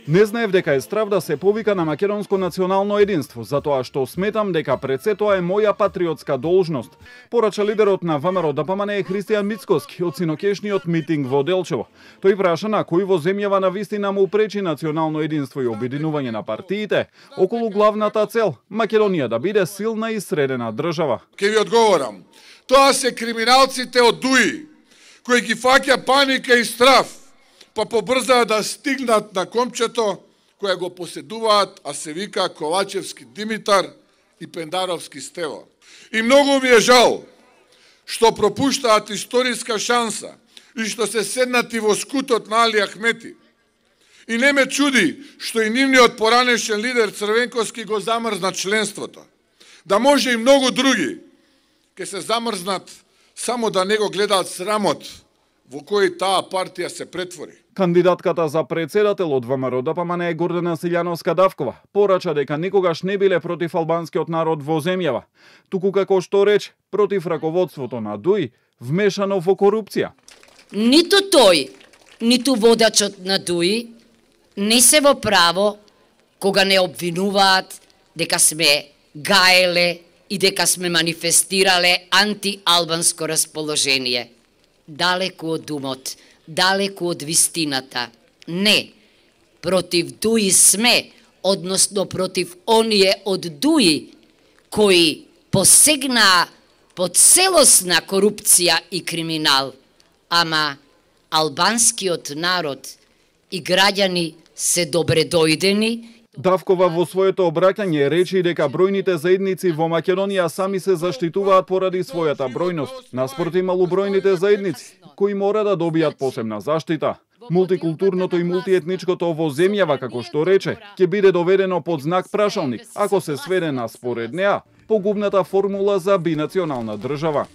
Не знаев дека е страв да се повика на македонско национално единство, затоа што сметам дека пред се тоа е моја патриотска должност, порача лидерот на ВМРО-ДПМНЕ Христијан Мицкоски од синокешниот митинг во Делчево. Тој праша на кој во земјава на вистина му пречи национално единство и обединување на партиите околу главната цел Македонија да биде силна и средена држава. Ке ви одговорам. Тоа се криминалците од ДУИ, кои ги фаќа паника и страв, па побрзаат да стигнат на комчето кое го поседуваат, а се вика Ковачевски Димитар и Пендаровски Стево. И многу ми е жал што пропуштаат историска шанса и што се седнати во скутот на Али Ахмети. И не ме чуди што и нивниот поранешен лидер Црвенковски го замрзна членството. Да може и многу други ке се замрзнат само да не го гледаат срамот во кој таа партија се претвори. Кандидатката за председател од ВМРО-ДПМНЕ Гордана Силјановска-Давкова порача дека никогаш не биле против албанскиот народ во земјава, туку како што рече против раководството на ДУИ вмешано во корупција. Ниту тој, ниту водачот на ДУИ не се во право кога не обвинуваат дека сме гаеле и дека сме манифестирале антиалбанско расположение. Далеку од умот, далеку од вистината. Не, против ДУИ сме, односно против оние од ДУИ кои посегнаа по целосна корупција и криминал. Ама албанскиот народ и граѓани се добредојдени. Давкова во своето обраќање рече дека бројните заедници во Македонија сами се заштитуваат поради својата бројност, наспроти малобројните заедници, кои мора да добијат посебна заштита. Мултикултурното и мултиетничкото во земјава, како што рече, ќе биде доведено под знак прашалник, ако се сведе на според неа погубната формула за бинационална држава.